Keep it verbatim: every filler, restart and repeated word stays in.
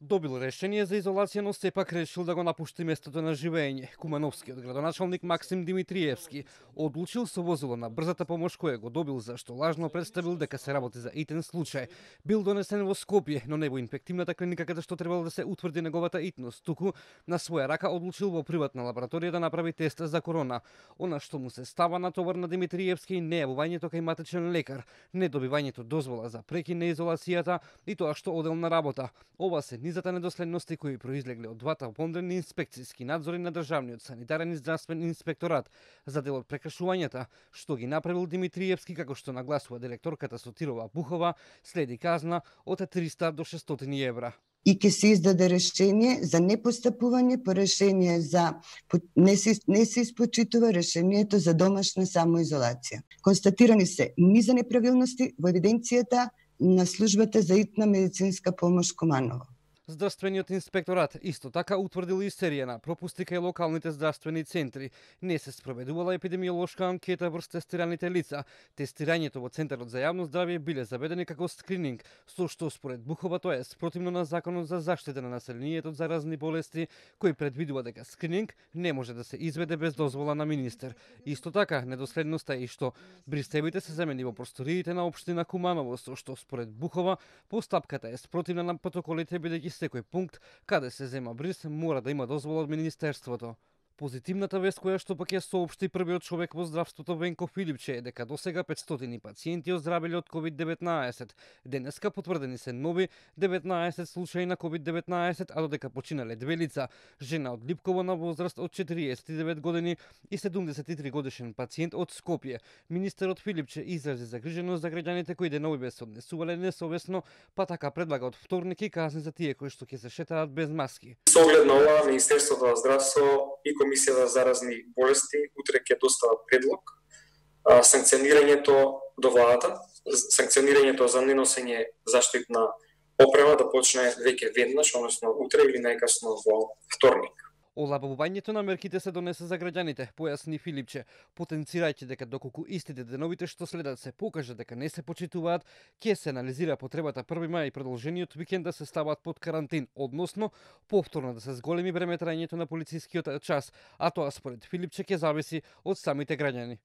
Добил решение за изолација, но сепак решил да го напушти местото на живење. Кумановскиот градоначалник Максим Димитриевски одлучил со возило на брзата помош кое го добил зашто лажно представил дека се работи за итен случај. Бил донесен во Скопје, но не во инфективната клиника каде што требало да се утврди неговата итност, туку на своја рака одлучил во приватна лабораторија да направи тест за корона. Она што му се става на товар на Димитриевски не јавувањето кај матичен лекар, не добивањето дозвола за прекин на изолацијата и тоа што одел на работа. Ова се низата недоследности кои произлегле од двата помдрени инспекцијски надзори на државниот санитарен и здравствен инспекторат за дел од прекршувањата, што ги направил Димитриевски, како што нагласува директорката Сотирова Бухова, следи казна од триста до шестстотини евра. И ќе се издаде решение за непостапување по решение за не се, не се испочитува решението за домашна самоизолација. Констатирани се низа неправилности во евиденцијата на службата за итна медицинска помош Куманово. Здравствениот инспекторат исто така утврдил и серија на пропусти кај локалните здравствени центри. Не се спроведувала епидемиолошка анкета врз тестираните лица. Тестирањето во Центарот за јавно здравје биле заведени како скрининг, со што според Бухова тоа е спротивно на Законот за заштита на населението од заразни болести, кој предвидува дека скрининг не може да се изведе без дозвола на министер. Исто така, недоследноста е и што бристевите се замени во просториите на општина Куманово, со што според Бухова постапката е спротивна на протоколите, бидејќи секој пункт каде се зема бриз мора да има дозвола од министерството. Позитивната вест која што пак ја соопшти првиот човек во здравството Венко Филипче е дека досега петстотини пациенти оздравеле од ковид деветнаесет. Денеска потврдени се нови деветнаесет случаи на ковид деветнаесет, а додека починале две лица, жена од Липково на возраст од четириесет и девет години и седумдесет и три годишен пациент од Скопје. Министерот Филипче изрази загриженост за граѓаните кои деновиве се однесувале несовесно, па така предлага од вторник и казни за тие кои што ќе се шетаат без маски. Со оглед на ова, Министерството на здравство и Комисија за заразни болести утре ќе достават предлог а, санкционирањето до владата, санкционирањето за неносење заштитна опрема да почне веќе веднаш, односно утре или најкасно во вторник. Олабавувањето на мерките се донесе за граѓаните, појасни Филипче, потенцирајќи дека доколку истите деновите што следат се покаже дека не се почитуваат, ќе се анализира потребата први мај и продолжениот викенд да се стават под карантин, односно повторно да се зголеми време трајањето на полицискиот час, а тоа според Филипче ќе зависи од самите граѓани.